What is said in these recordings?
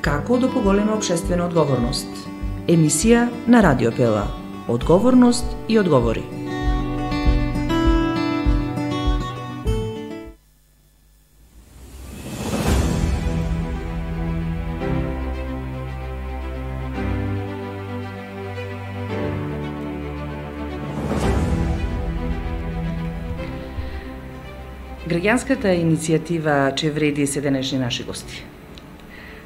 Како да поголеме општествена одговорност? Емисија на Радио Пела. Одговорност и одговори. Граѓанската иницијатива Че вреди се денешни наши гости.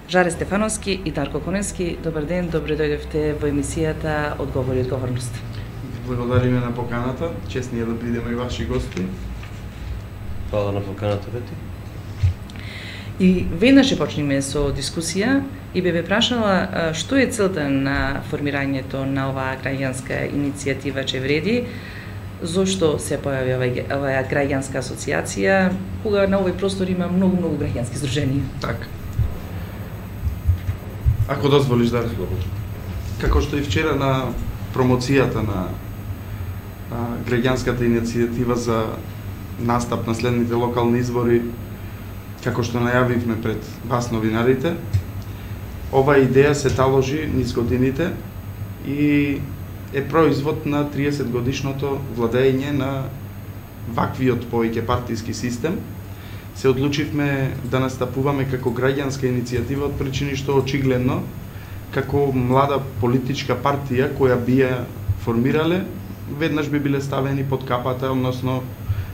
Жаре Стефановски и Дарко Коненски, добар ден, добре дојдовте во емисијата Одговори и одговорност. Благодариме на поканата, честни е да бидеме и ваши гости. Фала на поканата, Вети. И веднаш ќе почнеме со дискусија и бе прашала што е целта на формирањето на оваа граѓанска иницијатива Че вреди, зошто се појави оваа граѓанска асоциација, кога на овој простор има многу граѓански здруженија. Така. Ако дозволиш, да. Како што и вчера на промоцијата на граѓанската иницијатива за настап на следните локални избори, како што најавивме пред вас новинарите, оваа идеја се таложи низ годините и е производ на 30 годишното владење на ваквиот повеќе партиски систем. Се одлучивме да настапуваме како граѓанска иницијатива од причини што очигледно како млада политичка партија која би ја формирале, веднаш би биле ставени под капата, односно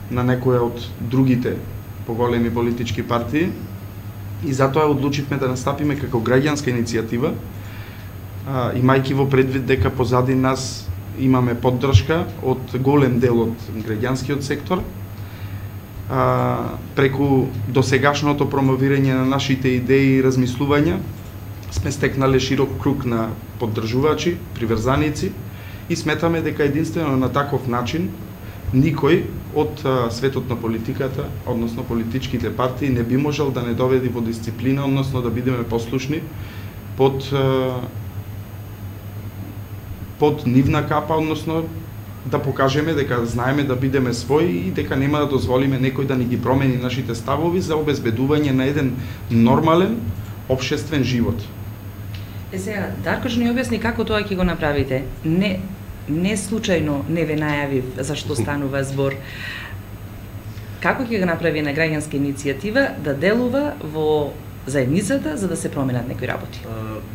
на некоја од другите поголеми политички партии. И затоа одлучивме да настапиме како граѓанска иницијатива, имајќи во предвид дека позади нас имаме поддршка од голем дел од граѓанскиот сектор, преку досегашното промовирање на нашите идеи и размислувања сме стекнале широк круг на поддржувачи, приврзаници и сметаме дека единствено на таков начин никој од светот на политиката, односно политичките партии, не би можел да не доведи во дисциплина, односно да бидеме послушни под нивна капа, односно да покажеме дека знаеме да бидеме своји и дека нема да дозволиме некој да ни ги промени нашите ставови за обезбедување на еден нормален општествен живот. Сега, Дарко што ни објасни како тоа ќе го направите. Не случајно не ве најавив за што станува збор. Како ќе го направи една граѓанска иницијатива да делува во заедницата за да се променат некои работи?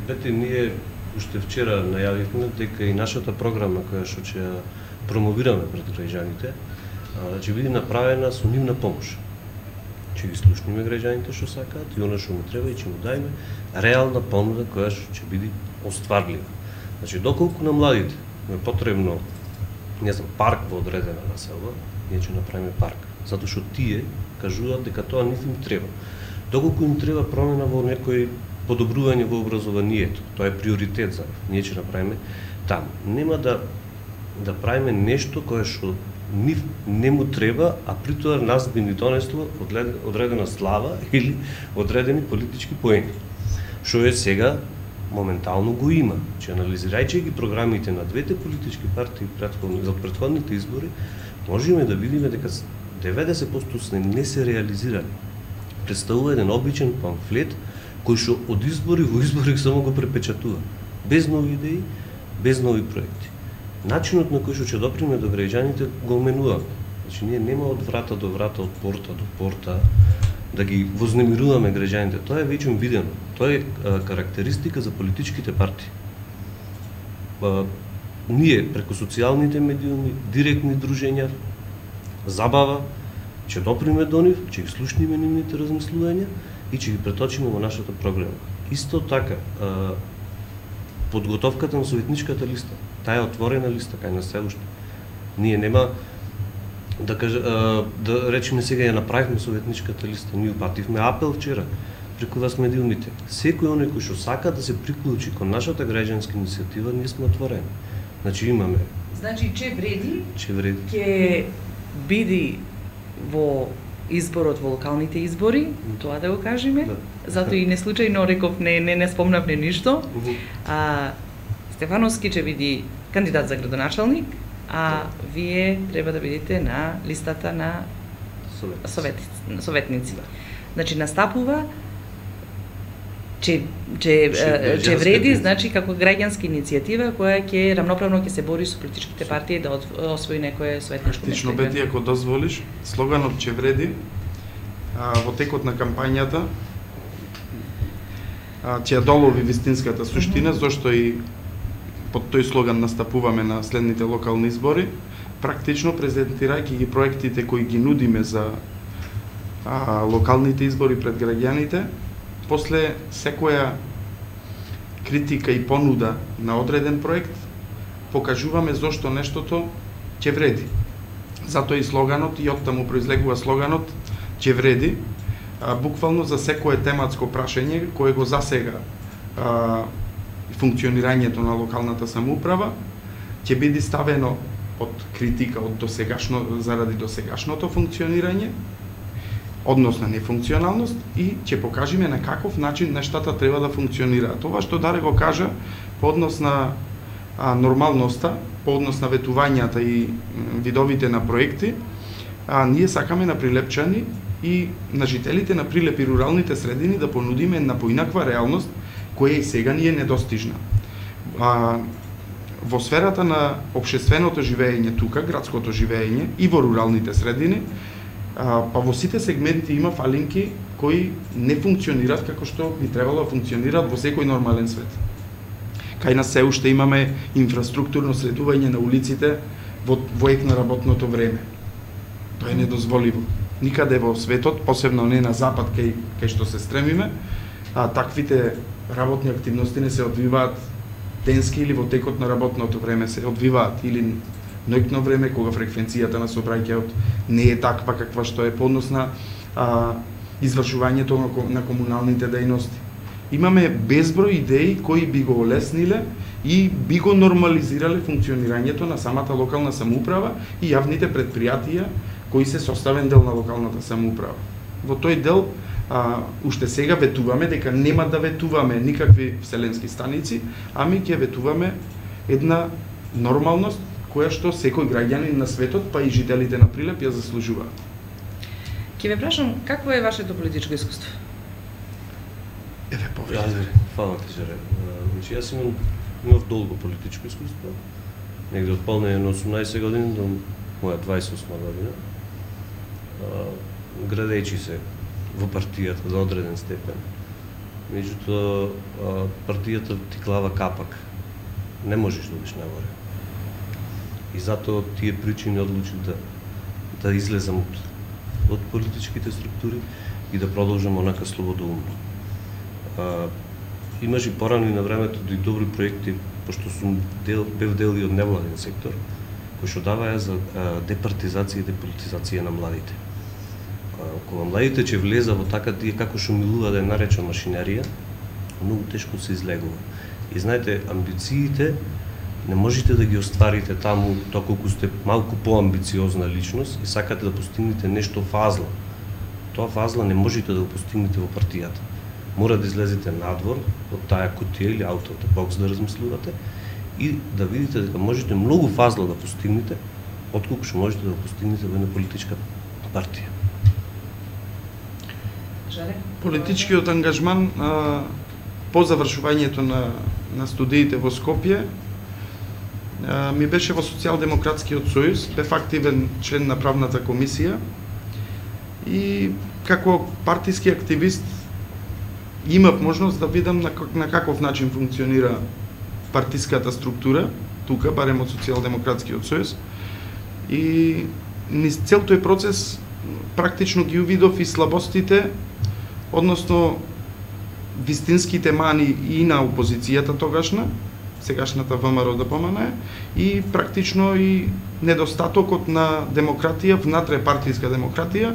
Бете, ние уште вчера најавивме дека и нашата програма која што ќе промовираме пред граѓаните, ќе биде направена со нивна помош. Ќе ги слушнеме граѓаните што сакаат и она што му треба и ќе му дајме реална понуда која што ќе биде остварлива. Значи, доколку на младите е потребно, не знам, парк во одредена населба, ние ќе направиме парк, затоа што тие кажуваат дека тоа нив им треба. Доколку им треба промена во некој подобрување во образованието, тоа е приоритет за ние ќе направиме таму. Нема да правиме нешто кое што нив не му треба, а при тоа нас би ни донесло одредена слава или одредени политички поени. Што е сега моментално го има. Че анализирајќи ги програмите на двете политички партии за претходните избори, можеме да видиме дека 90% не се реализирани. Представува еден обичен памфлет кој што од избори во избори само го препечатува, без нови идеи, без нови проекти. Начинот на кој што ќе доприме до граѓаните го оменуваме. Значи, ние нема од врата до врата, од порта до порта, да ги вознемируваме граѓаните. Тоа е веќе видено. Тоа е карактеристика за политичките партии. Ние, преку социјалните медиуми, директни дружења, забава, ќе доприме до нив, ќе ги слушнеме нивните размислувања и ќе ги преточиме во нашата програма. Исто така, подготовката на советничката листа, таа е отворена листа кај нас се уште. Ние нема да речеме сега ја направивме советничката листа, ние упативме апел вчера преку вас медиумите. Секој оној кој што сака да се приклучи кон нашата граѓанска иницијатива, ние сме отворени. Значи имаме. Значи Че вреди. Ќе биде во изборот во локалните избори, тоа да го кажеме. Да. Затоа и не случајно реков не спомнавме ништо. Стефановски ќе биде кандидат за градоначалник, а вие треба да бидете на листата на советници. Значи настапува че вреди, значи како граѓанска иницијатива која ќе рамноправно ќе се бори со политичките партии да освои некое светничко место. Практично, Бети, ако дозволиш, слоганот че вреди во текот на кампањата ќе ја долови вистинската суштина, зашто и под тој слоган настапуваме на следните локални избори, практично презентирајќи ги проектите кои ги нудиме за локалните избори пред граѓаните. После секоја критика и понуда на одреден проект, покажуваме зошто нештото ќе вреди. Затоа и слоганот, и оттаму произлегува слоганот ќе вреди, буквално за секое тематско прашање кое го засега функционирањето на локалната самоуправа, ќе биде ставено под критика од заради досегашното функционирање, односна нефункционалност, и ќе покажеме на каков начин нештата треба да функционираат. Тоа што Даре го кажа по однос на нормалноста, по однос на ветувањата и видовите на проекти, ние сакаме на Прилепчани и на жителите на Прилеп и руралните средини да понудиме една поинаква реалност која и сега ни е недостижна. Во сферата на општественото живење тука, градското живење и во руралните средини, па во сите сегменти има фалинки кои не функционираат како што би требало да функционираат во секој нормален свет. Кај нас се уште имаме инфраструктурно средување на улиците во ек на работното време. Тоа е недозволиво. Никаде во светот, посебно не на запад кај што се стремиме, таквите работни активности не се одвиваат денски или во текот на работното време, се одвиваат или ноќно време кога фреквенцијата на сообраќајот не е таква каква што е по однос на извршувањето на комуналните дејности. Имаме безброј идеи кои би го олесниле и би го нормализирале функционирањето на самата локална самоуправа и јавните предпријатија кои се составен дел на локалната самоуправа. Во тој дел уште сега ветуваме дека нема да ветуваме никакви вселенски станици, ами ќе ветуваме една нормалност која што секој граѓанин на светот, па и жителите на Прилеп ја заслужуваат. Ќе ве прашам, какво е вашето политичко искуство? Еве повеќе. Фала ти, Жаре. Значи, јас имав долго политичко искуство, негде од полнење на 18 години до моја 28 година, градејќи се во партијата до одреден степен. Меѓутоа, партијата ти клава капак. Не можеш да одиш нагоре. И затоа тие причини одлучив да излезам од политичките структури и да продолжам онака слободоумно. Имаш и порано и на времето и добри проекти, пошто сум бев дел и од невладен сектор, кој што даваја за департизација и деполитизација на младите. Кога младите ќе влеза во така, тие како што милува да ја нареча машинерија, многу тешко се излегува. И знаете, амбициите не можете да ги остварите таму, тоа колку сте малку поамбициозна личност и сакате да постигнете нешто фазла. Тоа фазла не можете да го постигнете во партијата. Мора да излезете надвор од таа кутија или out of the box да размислувате и да видите дека можете многу фазла да постигнете, отколку што можете да го постигнете во една политичка партија. Политичкиот ангажман по завршувањето на студиите во Скопје ми беше во Социјалдемократскиот сојуз, бев активен член на правната комисија и како партиски активист имав можност да видам на каков начин функционира партиската структура тука, барем од Социјалдемократскиот сојуз, и низ цел тој процес практично ги увидов и слабостите, односно вистинските мани и на опозицијата тогашна, сегашната ВМРО да помане, и практично и недостатокот на демократија, внатре партиска демократија,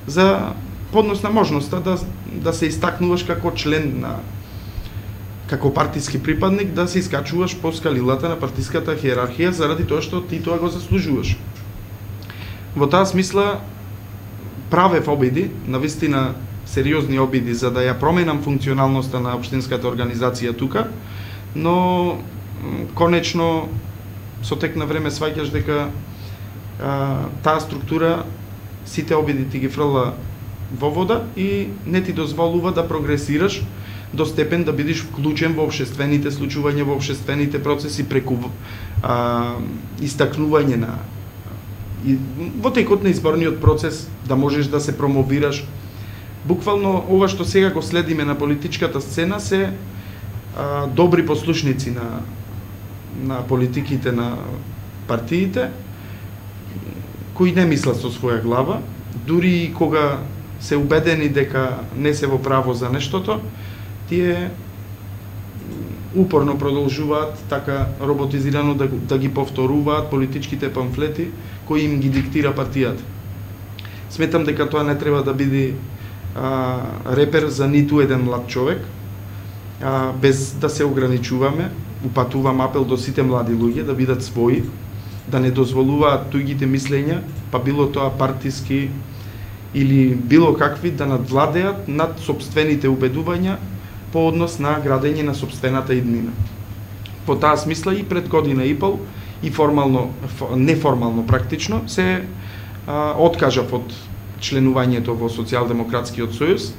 за поднос на можноста да се истакнуваш како член како партиски припадник, да се искачуваш по скалилата на партиската хиерархија заради тоа што ти тоа го заслужуваш. Во таа смисла правев обиди, навистина сериозни обиди за да ја променам функционалноста на општинската организација тука, но конечно со тек на време сваќаш дека таа структура сите обиди ти ги фрла во вода и не ти дозволува да прогресираш до степен да бидеш вклучен во општествените случувања, во општествените процеси преку истакнување на во текот на изборниот процес, да можеш да се промовираш. Буквално ова што сега го следиме на политичката сцена се добри послушници на политиките на партиите, кои не мислат со своја глава, дури и кога се убедени дека не се во право за нештото, тие упорно продолжуваат така роботизирано да ги повторуваат политичките памфлети кои им ги диктира партијата. Сметам дека тоа не треба да биде репер за ниту еден млад човек, без да се ограничуваме. Упатувам апел до сите млади луѓе да бидат своји, да не дозволуваат туѓите мислења, па било тоа партиски или било какви, да надвладеат над сопствените убедувања по однос на градење на сопствената иднина. По таа смисла и пред година и пол и формално, неформално практично се откажав од членувањето во Социјалдемократскиот сојуз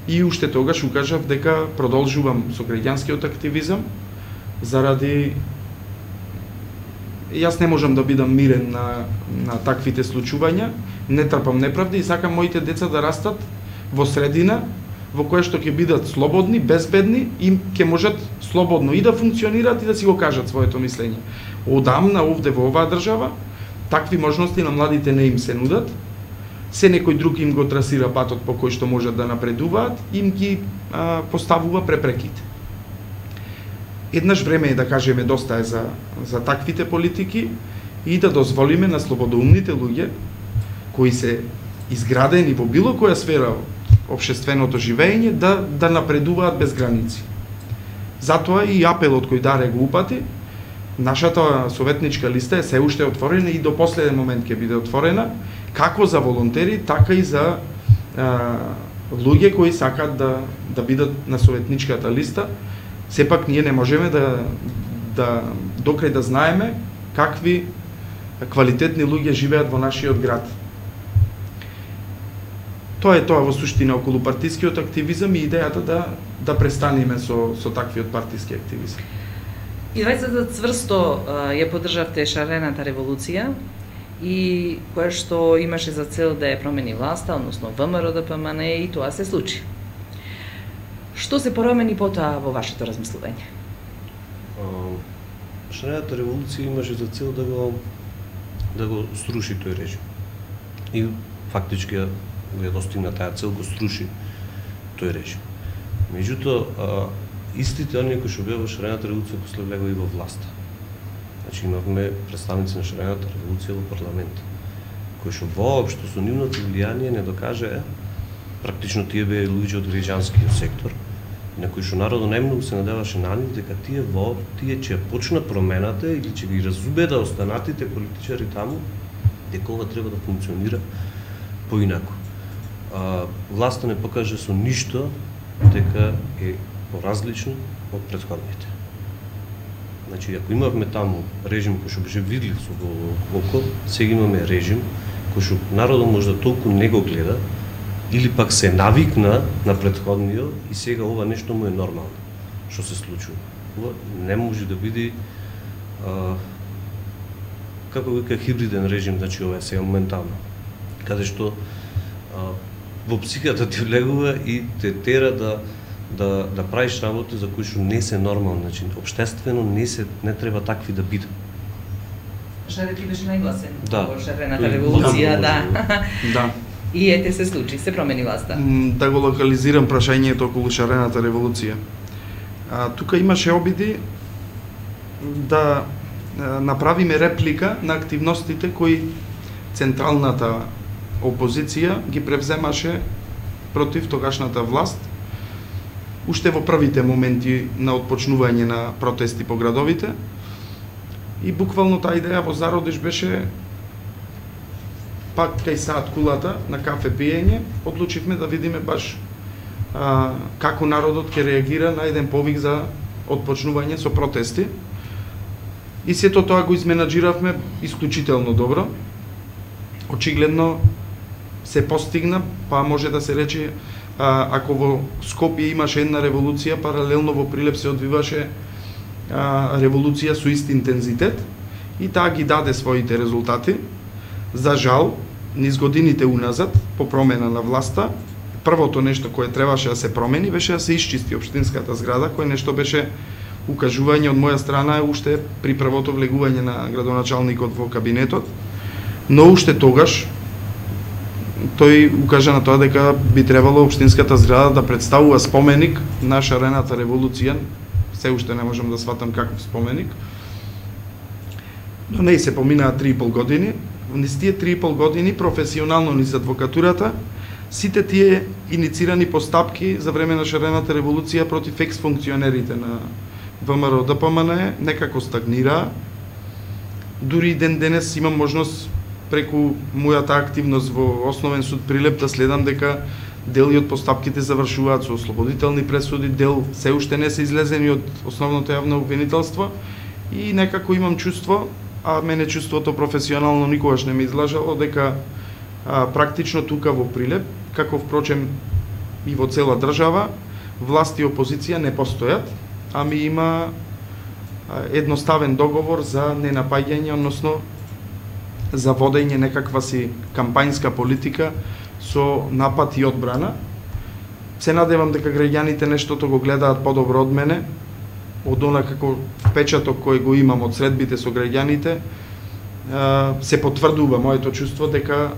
и уште тогаш укажав дека продолжувам со граѓанскиот активизам заради јас не можам да бидам мирен на таквите случувања, не трпам неправди и сакам моите деца да растат во средина во која што ќе бидат слободни, безбедни и ќе можат слободно и да функционираат и да си го кажат своето мислење. Одамна овде во оваа држава такви можности на младите не им се нудат. Се некој друг им го трасира патот по кој што можат да напредуваат, им ги поставува препреките. Еднаш време е да кажеме доста е за таквите политики и да дозволиме на слободоумните луѓе кои се изградени во било која сфера од општественото живење да напредуваат без граници. Затоа и апелот кој Даре го упати, нашата советничка листа е се уште отворена и до последен момент ќе биде отворена, како за волонтери, така и за луѓе кои сакаат да бидат на советничката листа. Сепак ние не можеме да докрај да знаеме какви квалитетни луѓе живеат во нашиот град. Тоа е тоа во суштина околу партискиот активизам и идејата да престанеме со таквиот партиски активизам. И двајцата цврсто ја поддржавте шарената револуција и која што имаше за цел да ја промени власта, односно ВМРО-ДПМН, и тоа се случи. Што се промени потоа во вашето размислување? Шарената револуција имаше за цел да го сруши тој режим. И фактички ја достигна таа цел, го сруши тој режим. Меѓутоа, истите оние кои што беа во шарената револуција после влегоа и во власта. Значи имавме представници на шарената револуција во парламент, кои што воопшто со нивното влијание не докажаа, практично тие беа луѓе од граѓанскиот сектор, на кои што народот најмногу се надеваше на нив дека тие ќе почнат промената или ќе ги разубеда останатите политичари таму дека ова треба да функционира поинаку. Власта не покаже со ништо дека е поразлично од претходните. Значи, ако имавме таму режим кој што беше видлив со око, сега имаме режим кој што народот можда толку не го гледа, или пак се навикна на претходниот и сега ова нешто му е нормално, што се случува. Ова не може да биде како вика хибриден режим, значи ова е сега моментално, каде што во психиката ти влегува и те тера да правиш работи за кои што не се нормални, значи општествено не треба такви да бидат. Шарет ти беше најгласен во шарената револуција, Да. И ете се случи, се промени власта. Да го локализирам прашањето околу шарената револуција. Тука имаше обиди да направиме реплика на активностите кои централната опозиција ги превземаше против тогашната власт уште во првите моменти на отпочнување на протести по градовите. И буквално таа идеја во зародиш беше пак кај саат кулата на кафе пиење, одлучивме да видиме баш како народот ќе реагира на еден повик за отпочнување со протести. И сето тоа го изменаџиравме исклучително добро. Очигледно се постигна, па може да се рече ако во Скопје имаше една револуција, паралелно во Прилеп се одвиваше револуција со ист интензитет и таа ги даде своите резултати. За жал, низ годините уназад, по промена на власта, првото нешто кое требаше да се промени беше да се исчисти општинската зграда, кое нешто беше укажување од моја страна уште при првото влегување на градоначалникот во кабинетот, но уште тогаш тој укажа на тоа дека би требало општинската зграда да представува споменик на шарената револуција. Се уште не можам да сватам каков споменик. Но не се поминаа 3,5 години. Низ тие 3,5 години професионално низ адвокатурата, сите тие иницирани постапки за време на шарената револуција против екс-функционерите на ВМРО ДПМН некако стагнираа. Дури и ден денес имам можност преку мојата активност во Основен суд Прилеп да следам дека дели од постапките завршуваат со ослободителни пресуди, дел се уште не се излезени од основното јавно обвинителство и некако имам чувство, а мене чувството професионално никогаш не ме излажало, дека практично тука во Прилеп, како впрочем и во цела држава, власт и опозиција не постојат, ами има едноставен договор за ненапаѓање, односно за водење некаква си кампањска политика со напад и одбрана. Се надевам дека граѓаните нештото го гледаат подобро од мене, од она како впечаток кој го имам од средбите со граѓаните, се потврдува моето чувство дека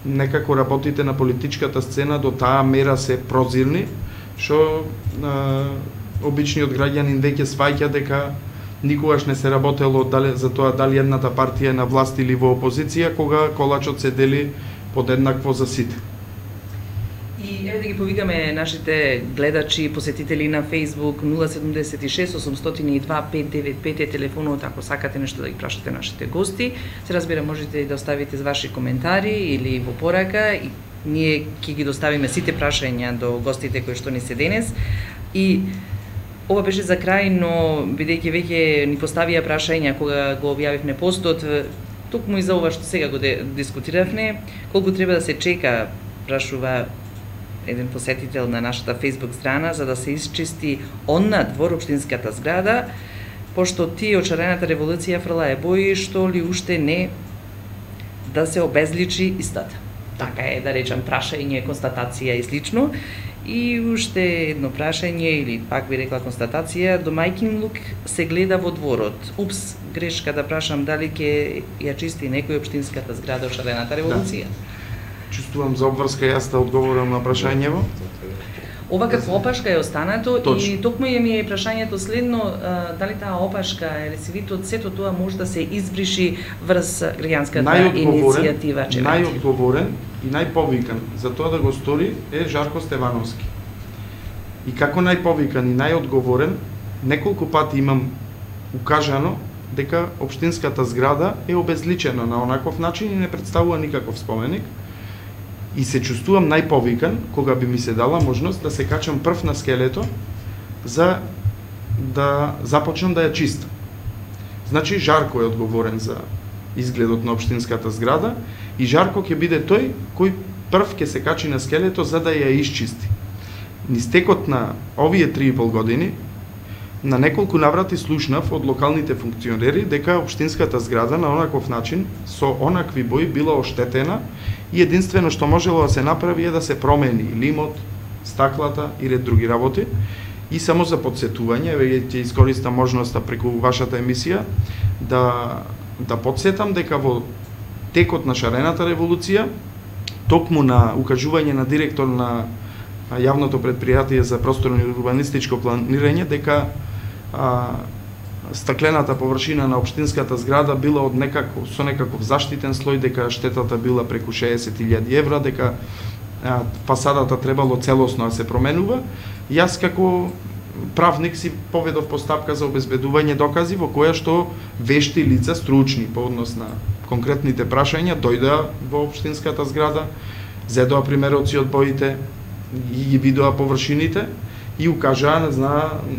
некако работите на политичката сцена до таа мера се прозирни, што обичниот граѓанин веќе сваќа дека никогаш не се работело за тоа дали едната партија е на власт или во опозиција, кога колачот се дели подеднакво за сите. И еве да ги повикаме нашите гледачи и посетители на Facebook 076 802 595 е телефонот ако сакате нешто да ги прашате нашите гости. Се разбира можете и да оставите ваши коментари или во порака и ние ќе ги доставиме сите прашања до гостите кои што ни се денес. И ова беше за крај, но бидејќи веќе ни поставија прашања кога го објавивме постот, токму и за ова што сега го дискутиравме, колку треба да се чека, прашува еден посетител на нашата Facebook страна, за да се исчисти онна двор општинската зграда, пошто тие од шарената револуција фрлае бои што ли уште не да се обезличи истата. Така е, да речам, прашање, констатација и слично. И уште едно прашање, или пак би рекла констатација, домајкин лук се гледа во дворот. Упс, грешка да прашам дали ќе ја чисти некој општинската зграда од шарената револуција. Да. Чувствувам за обврска јас да одговорам на прашањево. Ова како опашка е останато. Точно. И токму ми е прашањето следно, дали таа опашка или сивитот, сето тоа може да се избриши врз граѓанската иницијатива Чевреди. Најодговорен и најповикан за тоа да го стори е Жарко Стевановски. И како најповикан и најодговорен, неколку пати имам укажано дека општинската зграда е обезличена на онаков начин и не представува никаков споменик. И се чувствувам најповикан кога би ми се дала можност да се качам прв на скелето за да започнам да ја чистам. Значи Жарко е одговорен за изгледот на општинската зграда и Жарко ќе биде тој кој прв ќе се качи на скелето за да ја исчисти. Низ текот на овие 3,5 години на неколку наврати слушнав од локалните функционери дека општинската зграда на онаков начин со онакви бои била оштетена и единствено што можело да се направи е да се промени лимот, стаклата и ред други работи. И само за подсетување, еве ќе искористам можноста преку вашата емисија да подсетам дека во текот на шарената револуција, токму на укажување на директор на јавното предпријатие за просторно и урбанистичко планирање дека стаклената површина на општинската зграда била од со некаков заштитен слој, дека штетата била преку 60.000 евра, дека фасадата требало целосно да се променува. Јас како правник си поведов постапка за обезбедување докази во која што вешти лица стручни по однос на конкретните прашања дојдоа во општинската зграда, зедоа примероци од боите и ги видоа површините и укажаа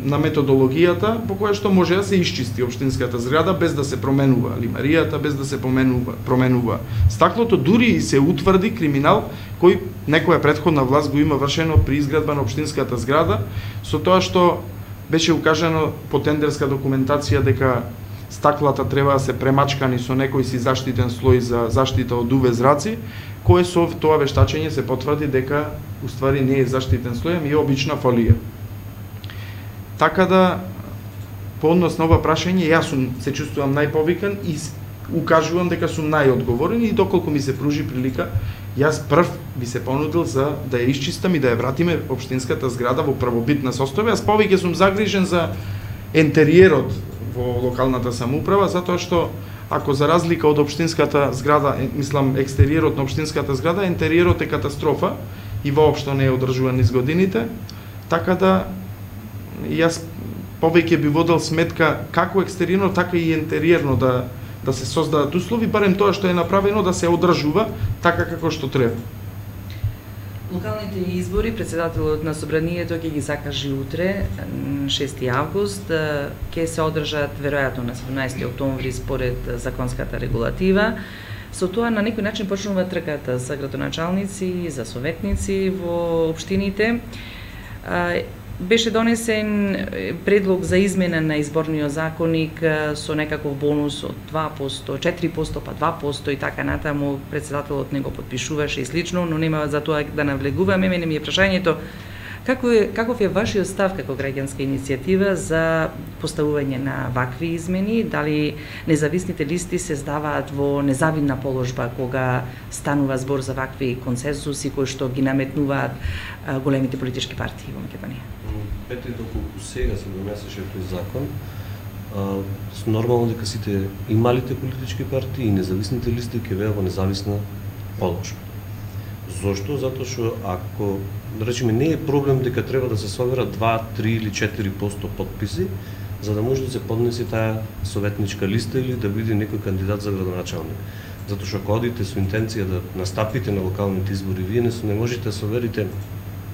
на методологијата по која што може да се исчисти општинската зграда без да се променува лимаријата, без да се променува стаклото, дури и се утврди криминал кој некоја претходна власт го има вршено при изградба на општинската зграда, со тоа што беше укажано по тендерска документација дека стаклата треба да се премачкани со некој си заштитен слој за заштита од UV зраци, кој со тоа вештачење се потврди дека уствари не е заштитен слој, ами е обична фолија. Така да, по однос на ова прашање, јас се чувствувам најповикан и укажувам дека сум најодговорен и доколку ми се пружи прилика, јас прв би се понудил за да ја исчистам и да ја вратиме општинската зграда во првобитна состојба. Јас повеќе сум загрижен за ентериерот во локалната самоуправа, затоа што ако за разлика од општинската зграда, мислам екстериерот на општинската зграда, ентериерот е катастрофа и воопшто не е одржуван низ годините, така да јас повеќе би водел сметка како екстериерно, така и ентериерно да се создадат услови, барем тоа што е направено да се одржува така како што треба. Локалните избори, председателот на Собранието ќе ги закажи утре, 6 август, ќе се одржат веројатно на 17 октомври според законската регулатива. Со тоа на некој начин почнува трката за градоначалници, за советници во општините. Беше донесен предлог за измена на изборниот законник со некаков бонус од 2%, 4%, па 2% и така натаму. Председателот не го подпишуваше и слично, но нема за тоа да навлегуваме. Мене ми е прашањето каков е вашиот став како граѓанска иницијатива за поставување на вакви измени? Дали независните листи се здаваат во незавидна положба кога станува збор за вакви консенсуси кои што ги наметнуваат големите политички партии во Македонија? Петри, доколку сега се донесеше тој закон, нормално дека сите и малите политички партии и независните листи ќе беа во независна положба. Зошто? Затоа што ако, да речеме, не е проблем дека треба да се соберат 2, 3 или 4% подписи, за да може да се поднесе таа советничка листа или да биде некој кандидат за градоначалник. Затоа што ако одите со интенција да настапите на локалните избори, вие не можете да соберите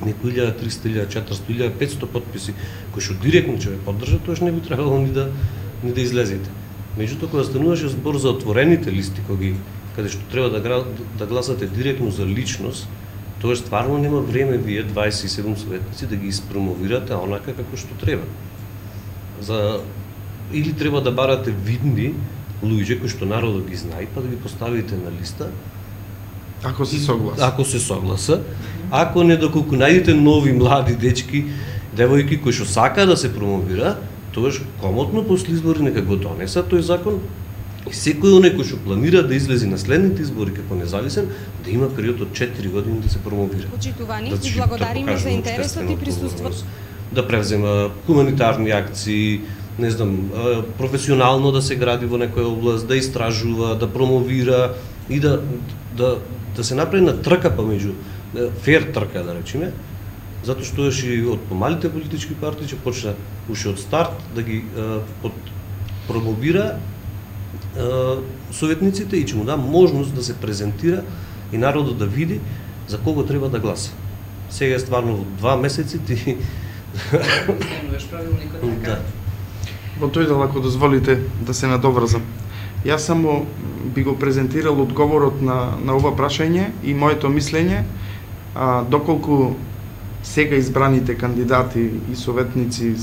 некои 1300, 1400, 1500 подписи кои што директно ќе ве поддржат, тоа не би требало ни да излезете. Меѓутоа, кога стануваше збор за отворените листи, каде што треба да гласате директно за личност, тоа стварно нема време вие 27 советници да ги испромовирате онака како што треба. Или треба да барате видни луѓе кои што народот ги знае, па да ги поставите на листа. Ако се согласа. Ако не, доколку најдете нови млади дечки, девојки кои што сакаат да се промовира, тоаш комотно после избори нека го донесат тој закон. И секој оној кој што планира да излезе на следните избори како независен, да има период од 4 години да се промовира. Почитувани, и благодариме за интересот и присуството. Да превзема хуманитарни акции, не знам, професионално да се гради во некоја област, да истражува, да промовира и да се направи на трка помеѓу фер трка, да речеме, затоа што и од помалите политички партии ќе почне уште од старт да ги промовира советниците и ќе му да можност да се презентира и народот да види за кого треба да гласа. Сега е стварно во 2 месеци ти Да. Во тој дел, ако дозволите да се надоврзам. Јас само би го презентирал одговорот на ова прашање и моето мислење, доколку сега избраните кандидати и советници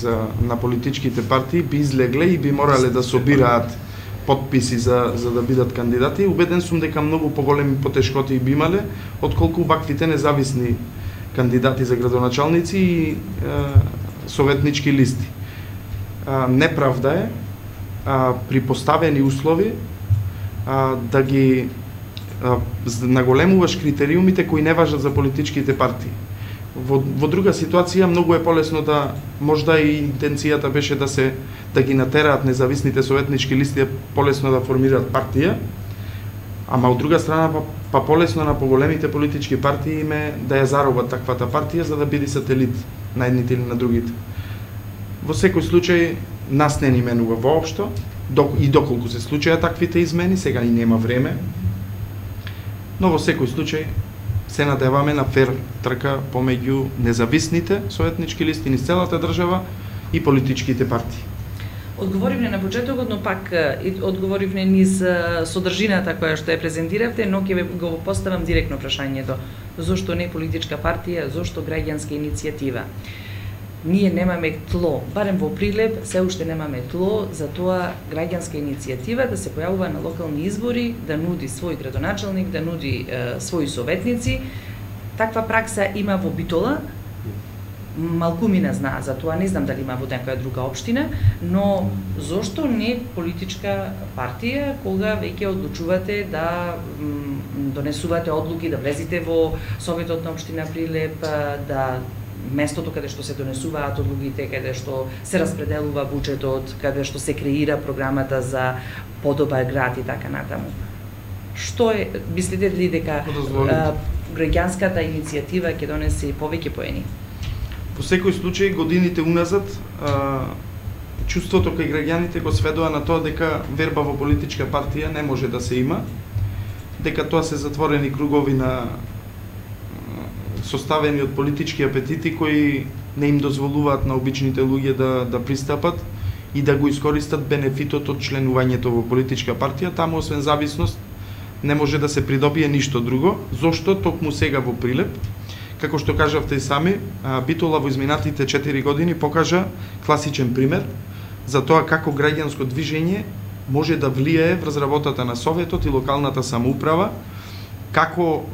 на политичките партии би излегле и би морале да собираат подписи за да бидат кандидати, убеден сум дека многу поголеми потешкоти би имале отколку ваквите независни кандидати за градоначалници и советнички листи. Неправда е при поставени услови да ги наголемуваш критериумите кои не важат за политичките партии. Во друга ситуација многу е полесно можда и интенцијата беше да ги натераат независните советнички листи полесно да формираат партија, ама од друга страна па полесно на поголемите политички партии име да ја заробат таквата партија за да биде сателит на едните или на другите. Во секој случај нас не ни менува воопшто и доколку се случаја таквите измени, сега и нема време, но во секој случај се надеваме на фер трка помеѓу независните советнички листи низ целата држава и политичките партии. Одговоривме на почетокот, но пак одговоривме низ содржината која што ја презентиравте, но ќе го поставам директно прашањето. Зошто не политичка партија, зошто граѓанска иницијатива? Ние немаме тло, барем во Прилеп се уште немаме тло за тоа граѓанска иницијатива да се појавува на локални избори, да нуди свој градоначелник, да нуди своји советници. Таква пракса има во Битола, малку ми не знаа за тоа, не знам дали има во некоја друга општина, но зошто не политичка партија кога веќе одлучувате да донесувате одлуки, да влезите во Советот на општина Прилеп, да местото каде што се донесуваат одлугите, каде што се распределува буџетот, каде што се креира програмата за подобар град и така натаму. Што е, мислите ли дека граѓанската иницијатива ќе донесе повеќе поени? Во секој случај, годините уназад, чувството кај граѓаните го сведува на тоа дека верба во политичка партија не може да се има, дека тоа се затворени кругови на составени од политички апетити кои не им дозволуваат на обичните луѓе да пристапат и да го искористат бенефитот од членувањето во политичка партија. Таму освен зависност не може да се придобие ништо друго. Зошто токму сега во Прилеп, како што кажавте и сами, Битола во изминатите 4 години покажа класичен пример за тоа како граѓанско движење може да влијае врз работата на Советот и локалната самоуправа, како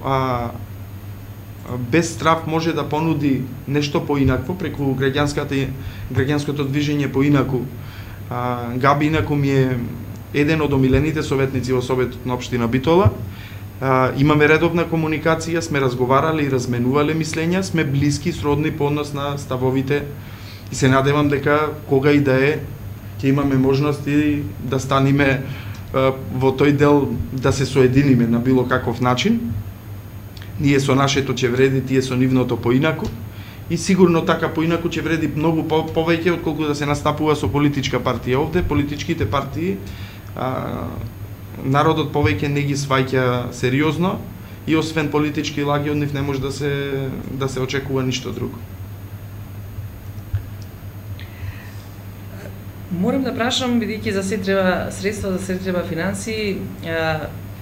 без страв може да понуди нешто поинакво преку граѓанското движење поинаку. Габи инаку ми е еден од омилените советници во Советот на општина Битола. Имаме редовна комуникација, сме разговарале и разменувале мислења, сме блиски, сродни по однос на ставовите и се надевам дека кога и да е, ќе имаме можност и да станиме во тој дел да се соединиме на било каков начин. Ние со нашето ќе вреди, тие со нивното поинаку и сигурно така поинаку ќе вреди многу повеќе отколку да се настапува со политичка партија овде. Политичките партии народот повеќе не ги сваќа сериозно и освен политички лаги од нив не може да се очекува ништо друго. Морам да прашам, бидејќи за се треба средства, за се треба финансии,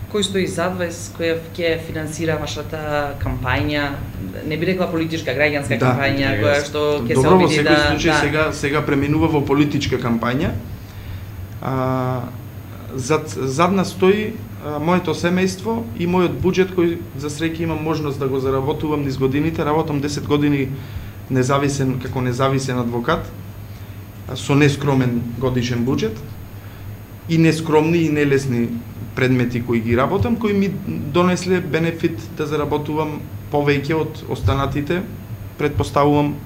кој стои зад вас, кој ќе финансира вашата кампања, не би рекла политичка, граѓанска кампања, која што ќе се обиди да... Добро, во секој случај сега преминува во политичка кампања. Зад нас стои моето семејство и мојот буџет кој за среќа имам можност да го заработувам низ годините. Работам 10 години како независен адвокат со нескромен годишен буџет и нескромни и нелесни предмети кои ги работам, кои ми донесле бенефит да заработувам повеќе од останатите. Предпоставувам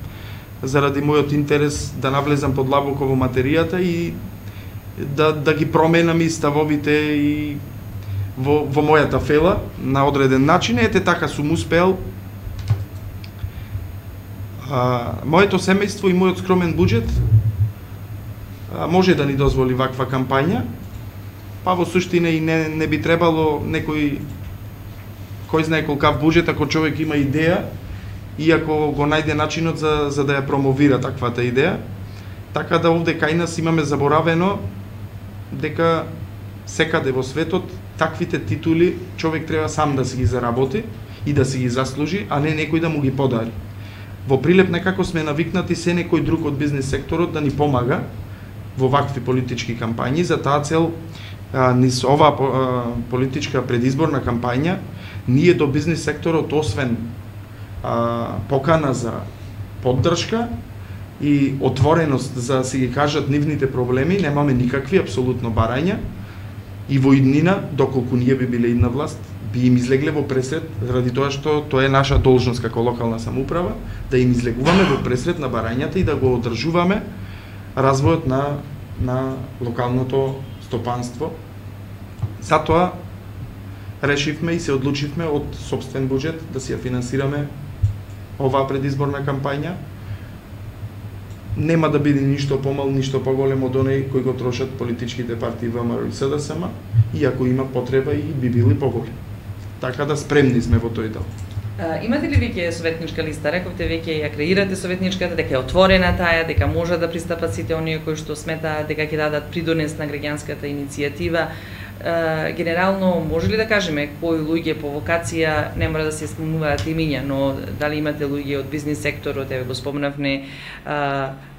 заради мојот интерес да навлезам подлабоко во материјата и да ги променам и ставовите и во мојата фела на одреден начин. Ете така сум успеал. Моето семејство и мојот скромен буџет може да ни дозволи ваква кампања, па во суштина и не би требало некој кој знае колкав буџет ако човек има идеја и ако го најде начинот за да ја промовира таквата идеја. Така да овде кај нас имаме заборавено дека секаде во светот таквите титули човек треба сам да си ги заработи и да си ги заслужи, а не некој да му ги подари. Во Прилеп некако сме навикнати се некој друг од бизнес секторот да ни помага во вакви политички кампањи. За таа цел, низ оваа политичка предизборна кампања, ние до бизнес секторот, освен покана за поддршка и отвореност за да си ги кажат нивните проблеми, немаме никакви апсолутно барања и во иднина, доколку ние би биле идна власт, би им излегле во пресред, заради тоа што тоа е наша должност како локална самоуправа, да им излегуваме во пресред на барањата и да го одржуваме развојот на локалното стопанство. Затоа решивме и се одлучивме од сопствен буџет да си ја финансираме оваа предизборна кампања. Нема да биде ништо помал, ништо поголем од оној кој го трошат политичките партии ВМРО и СДСМ, иако има потреба и би били поголем. Така да спремни сме во тој дел. Имате ли веќе советничка листа? Рековте веќе ја креирате советничката, дека е отворена таа, дека може да пристапат сите оние кои што сметаат дека ќе дадат придонес на граѓанската иницијатива. Генерално, може ли да кажеме кои луѓе по вокација, не мора да се спомнуваат имиња, но дали имате луѓе од бизнис секторот, еве го спомнавме,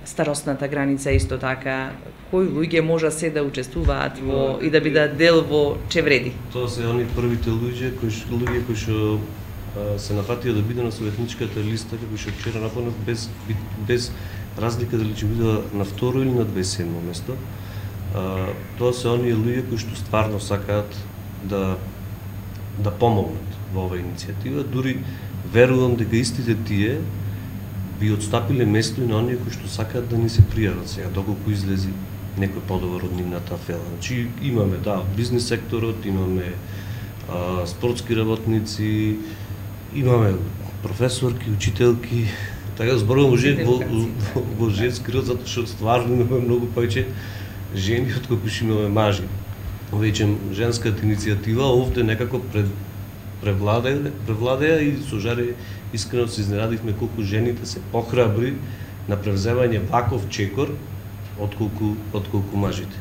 старосната граница исто така, кои луѓе може се да учествуваат во и да бидат дел во Чевреди? Тоа се они првите луѓе кои што се нафатија да биде на советничката листа, како што вчера напомнав, без разлика дали ќе биде на второ или на 27 место. Тоа се оние луѓе кои што стварно сакаат да помогнат во оваа иницијатива, дури верувам дека истите тие би отстапиле место и на оние кои што сакаат да ни се пријават сега, доколку излези некој подобар од нивната афера. Значи имаме бизнис секторот, имаме спортски работници, имаме професорки, учителки, така зборувам во женски род, затоа што стварно имаме многу повеќе жени отколку што имаме мажи. Веќе женската иницијатива овде некако превладеа и со Жаре искрено се изненадивме колку жените се похрабри на превземање ваков чекор отколку мажите.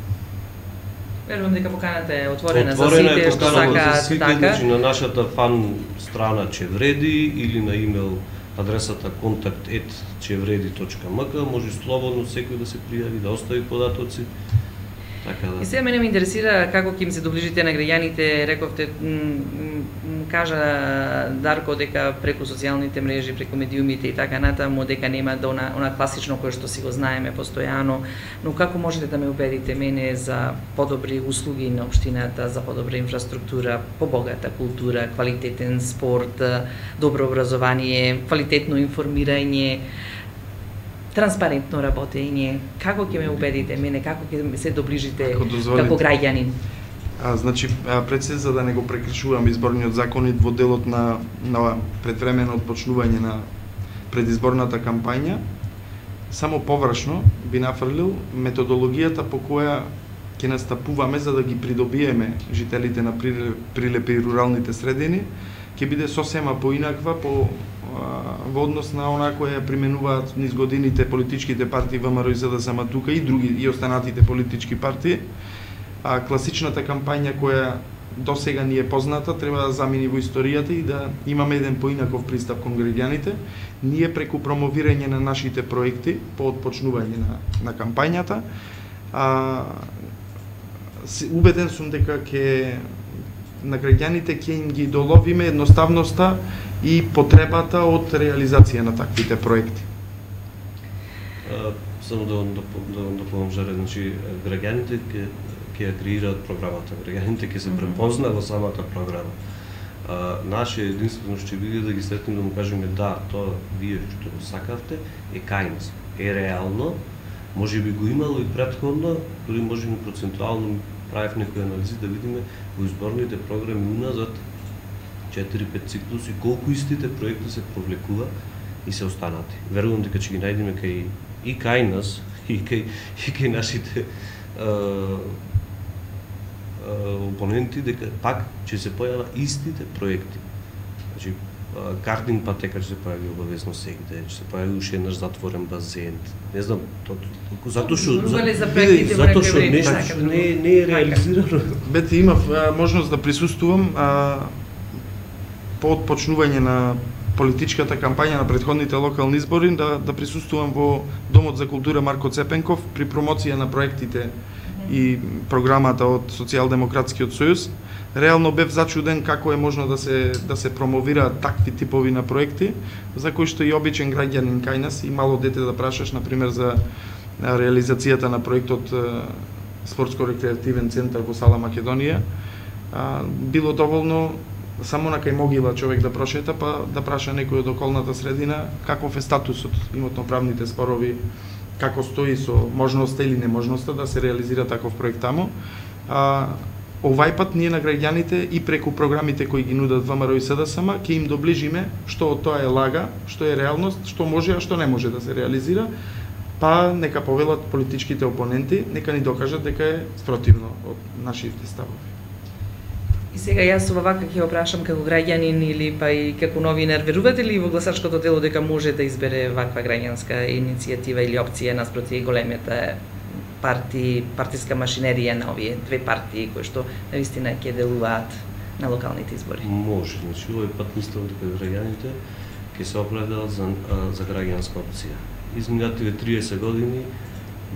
Верувам дека поканата е отворена за сите што сакаат така. Значи на нашата фан страна Чевреди или на имейл адресата contact@chevreди.mk може слободно секој да се пријави, да остави податоци. Така да. И сега мене ме интересира како ќе им се доближите на граѓаните, рековте, кажа Дарко дека преку социјалните мрежи, преку медиумите и така натаму, дека нема да она класично кое што си го знаеме постојано, но како можете да ме убедите мене за подобри услуги на општината, за подобра инфраструктура, побогата култура, квалитетен спорт, добро образование, квалитетно информирање, транспарентно работење? Како ќе ме убедите мене, како ќе се доближите како граѓанин? Значи, пред се, за да не го прекршувам изборниот законит во делот на предвремено отпочнување на предизборната кампања, само површно би нафрлил методологијата по која ќе настапуваме за да ги придобиеме жителите на прилепи и руралните средини, ќе биде сосема поинаква во однос на она која применуваат низ годините политичките партии ВМРО и СДСМ тука и други и останатите политички партии. Класичната кампања која до сега ни е позната треба да замени во историјата и да имаме еден поинаков пристап кон граѓаните. Ние преку промовирање на нашите проекти по отпочнување на кампањата, убеден сум дека на граѓаните ќе им ги доловиме едноставноста и потребата од реализација на таквите проекти. Само да дополнам, Жаре, значи граѓаните ќе ја креираат програмата, граѓаните ќе се препознаа во самата програма. Наше единствено што биде да ги сретнеме да му кажеме да, тоа вие што го сакавте е кај нас, е реално, може би го имало и претходно, дури може би процентуално правев некои анализи да видиме во изборните програми уназад 4-5 циклуси колку истите проекти се провлекува и се останати. Верувам дека ќе ги најдеме и кај нас и кај нашите опоненти, дека пак ќе се појава истите проекти. Значи картинг патека ќе се појави обавезно сегде, ќе се појави уште еднаш затворен базен. Не знам, затоа што нешто не е реализирано. Бете, имав можност да присуствувам по отпочнување на политичката кампања на претходните локални избори, да присуствувам во Домот за култура Марко Цепенков при промоција на проектите и програмата од Социјалдемократскиот сојуз. Реално бев зачуден како е можно да се промовираат такви типови на проекти, за кои што и обичен граѓанин кај нас и мало дете да прашаш, например, за реализацијата на проектот Спортско-рекреативен центар во Сала Македонија. Било доволно само на кај могила човек да прошета, па да праша некој од околната средина каков е статусот, имотно-правните спорови, како стои со можноста или неможноста да се реализира таков проект таму. Овај пат ние на граѓаните и преку програмите кои ги нудат ВМРО и СДСМ ќе им доближиме што од тоа е лага, што е реалност, што може, а што не може да се реализира, па нека повелат политичките опоненти, нека ни докажат дека е спротивно од нашите ставови. И сега јас вака ќе опрашам како граѓанин или па и како новинар, верувате ли во гласачкото тело дека може да избере ваква граѓанска иницијатива или опција наспроти големите партиска машинерија на овие две партии кои што навистина ќе делуваат на локалните избори? Може, значи овој пат мислам дека граѓаните ќе се определат за граѓанска опција. Изминативе 30 години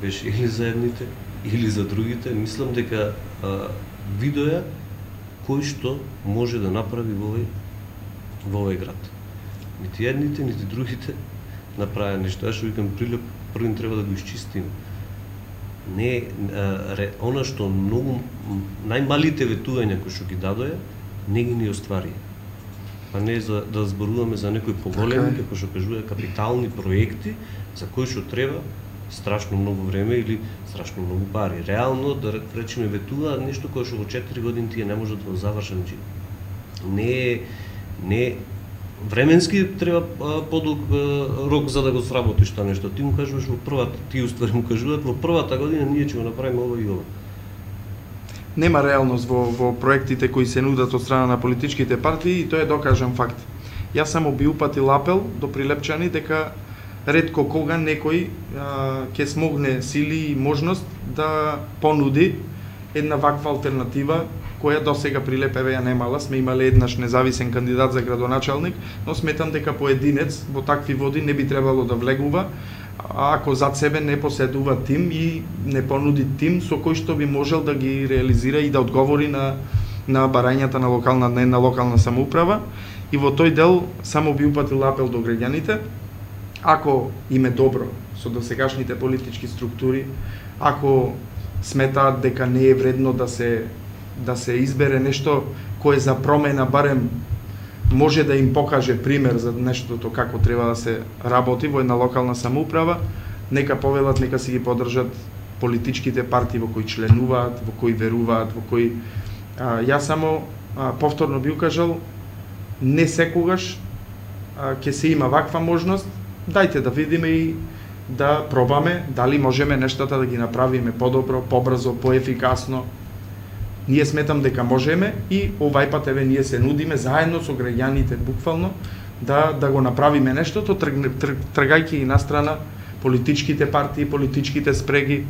беше или за едните или за другите. Мислам дека видоја кој што може да направи во овој град. Нити едните, нити другите направи нешто. Јас што викам, Прилеп првин треба да го исчистиме. Не она што многу најмалите ветувања кои што ги дадоја, не ги оствари. Па не да зборуваме за некои поголеми, како што кажува, капитални проекти за кои што треба страшно многу време или страшно многу пари. Реално, да речеме, ветува нешто кое што во 4 години тие не може да го завршат. Не временски треба подолг рок за да го сработиш тоа нешто. Ти му кажуваш во првата, ти уствари му кажуваат во првата година ние ќе го направиме ова и ова. Нема реалност во проектите кои се нудат од страна на политичките партии и тоа е докажан факт. Јас само би упатил апел до прилепчани дека ретко кога некој ќе смогне сили и можност да понуди една ваква алтернатива која до сега Прилеп ја немала. Сме имале еднаш независен кандидат за градоначалник, но сметам дека поединец во такви води не би требало да влегува ако зад себе не поседува тим и не понуди тим со кој што би можел да ги реализира и да одговори на барањата на локална самоуправа. И во тој дел само би упатил апел до граѓаните. Ако им е добро со досегашните политички структури, ако сметаат дека не е вредно да се избере нешто кое за промена барем може да им покаже пример за нештото како треба да се работи во една локална самоуправа, нека повелат, нека си ги поддржат политичките партии во кои членуваат, во кои веруваат, во кои јас само повторно би укажал, не секогаш ќе се има ваква можност. Дајте да видиме и да пробаме дали можеме нештата да ги направиме подобро, побрзо, поефикасно. Ние сметам дека можеме и овај пат еве ние се нудиме заедно со граѓаните буквално да го направиме нештото, тргајќи и настрана политичките партии, политичките спреги.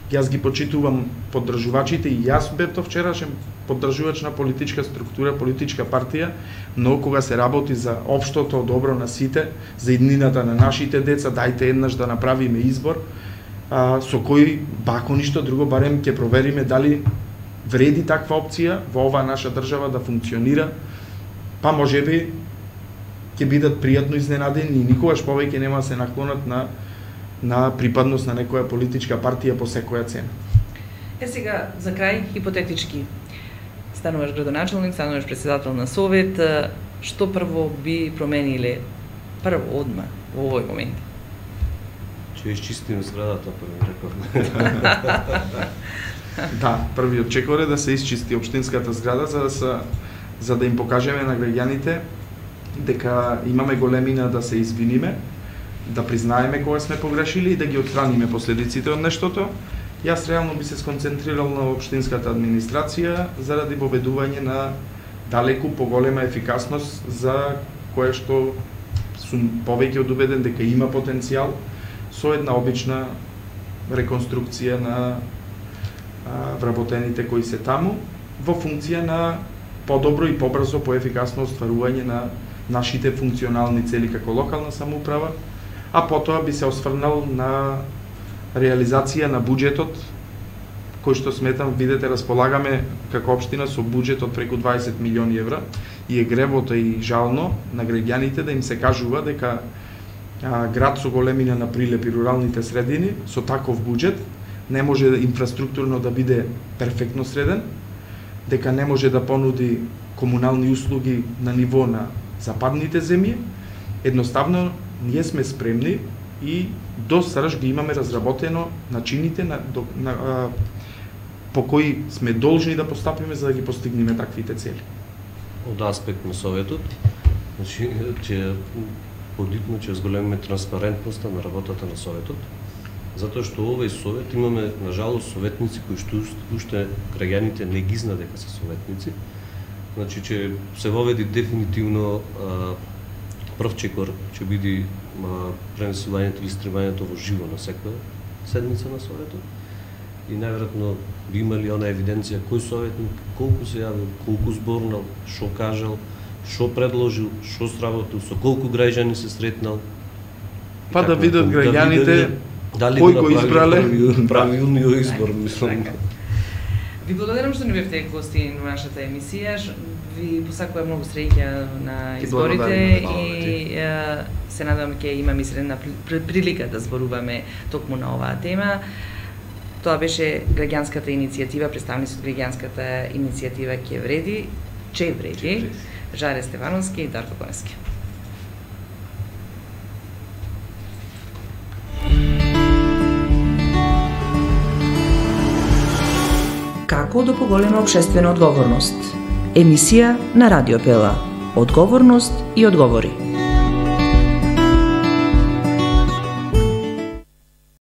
Јас ги почитувам поддржувачите и јас бев вчерашен поддржувач на политичка структура, политичка партија, но кога се работи за општото добро на сите, за иднината на нашите деца, дајте еднаш да направиме избор со кој бако ништо друго, барем ќе провериме дали вреди таква опција во оваа наша држава да функционира, па можеби ќе бидат пријатно изненадени и никогаш повеќе нема се наклонат на припадност на некоја политичка партија по секоја цена. Сега, за крај, хипотетички, стануваш градоначалник, стануваш председател на совет, што прво би промениле одма во овој момент? Ќе исчистиме зградата, прво реков. Да, првиот чекор е да се исчисти општинската зграда за да им покажеме на граѓаните дека имаме големина да се извиниме, да признаеме кога сме погрешили и да ги отстраниме последиците од нештото. Јас реално би се сконцентрирал на општинската администрација заради воведување на далеку поголема ефикасност за кое што сум повеќе од убеден дека има потенцијал со една обична реконструкција на вработените кои се таму во функција на подобро и побрзо, поефикасно остварување на нашите функционални цели како локална самоуправа, а потоа би се осврнал на реализација на буџетот, кој што сметам, видете, располагаме како општина со буџет од преку 20 милиони евра и е гревото и жално на граѓаните да им се кажува дека град со големина на Прилеп и руралните средини со таков буџет не може инфраструктурно да биде перфектно среден, дека не може да понуди комунални услуги на ниво на западните земји. Едноставно, ние сме спремни и до сраж ги имаме разработено начините по кои сме должни да постапиме за да ги постигнеме таквите цели. Од аспект на Советот, значи, ќе подитно ќе зголемиме транспарентноста на работата на Советот, затоа што овој Совет имаме, на жалост, советници кои што уште граѓаните не ги знаат дека се советници, Значи, че се воведи дефинитивно прв чекор, ќе биде пренесувањето или стримањето во живо на секоја седница на Советот. И најверојатно би имали она евиденција кој советник, колку се јавил, колку зборнал, што кажал, што предложил, што сработил, со колку граѓани се сретнал. Па да видат граѓаните кој го избрале правилниот избор, мислам. Ви благодарам што ни бевте гости на нашата емисија. Ви посакувам многу среќа на изборите и се надевам ќе имаме следна прилика да зборуваме токму на оваа тема. Тоа беше граѓанската иницијатива, представници од граѓанската иницијатива Ќе вреди, Жаре Стевановски и Дарко Коневски. Како да поголема општествена одговорност? Емисија на Радио Пела. Одговорност и одговори.